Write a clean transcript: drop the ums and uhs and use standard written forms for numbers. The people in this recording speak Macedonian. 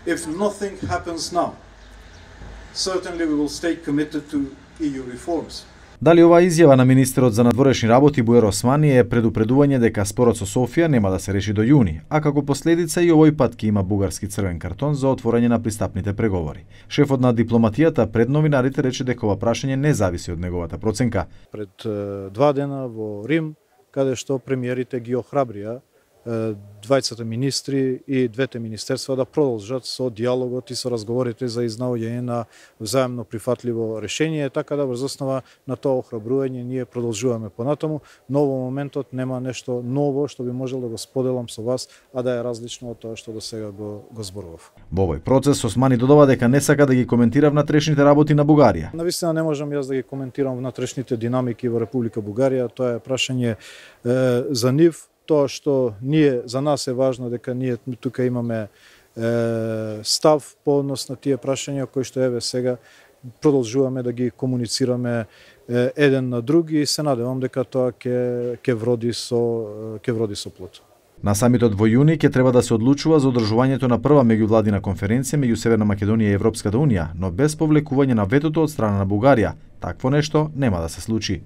If nothing happens now, certainly we will stay committed to EU reforms. Дали оваа изјава на министерот за надворешни работи Буер Османи е предупредување дека спорот со Софија нема да се реши до јуни, а како последица и овој пат ќе има бугарски црвен картон за отворање на пристапните преговори. Шефот на дипломатијата пред новинарите рече дека ова прашање не зависи од неговата проценка. Пред 2 дена во Рим, каде што премиерите ги охрабрија двајцата министри и двете министерства да продолжат со диалогот и со разговорите за изнаоѓање на взаемно прифатливо решение, така да врз основа на тоа охрабрување ние продолжуваме понатаму, но во моментот нема нешто ново што би можел да го споделам со вас, а да е различно од тоа што до сега го зборував. Во овој процес Османи додава дека не сака да ги коментира внатрешните работи на Бугарија. Навистина не можам јас да ги коментирам внатрешните динамики во Република Бугарија, тоа е прашање за нив. Тоа што за нас е важно дека ние тука имаме став по однос на тие прашања кои што еве сега продолжуваме да ги комуницираме еден на други и се надевам дека тоа ќе вроди со плод. На самитот во јуни ќе треба да се одлучува за одржувањето на прва меѓувладина конференција меѓу Северна Македонија и Европската унија, но без повлекување на ветото од страна на Бугарија. Такво нешто нема да се случи.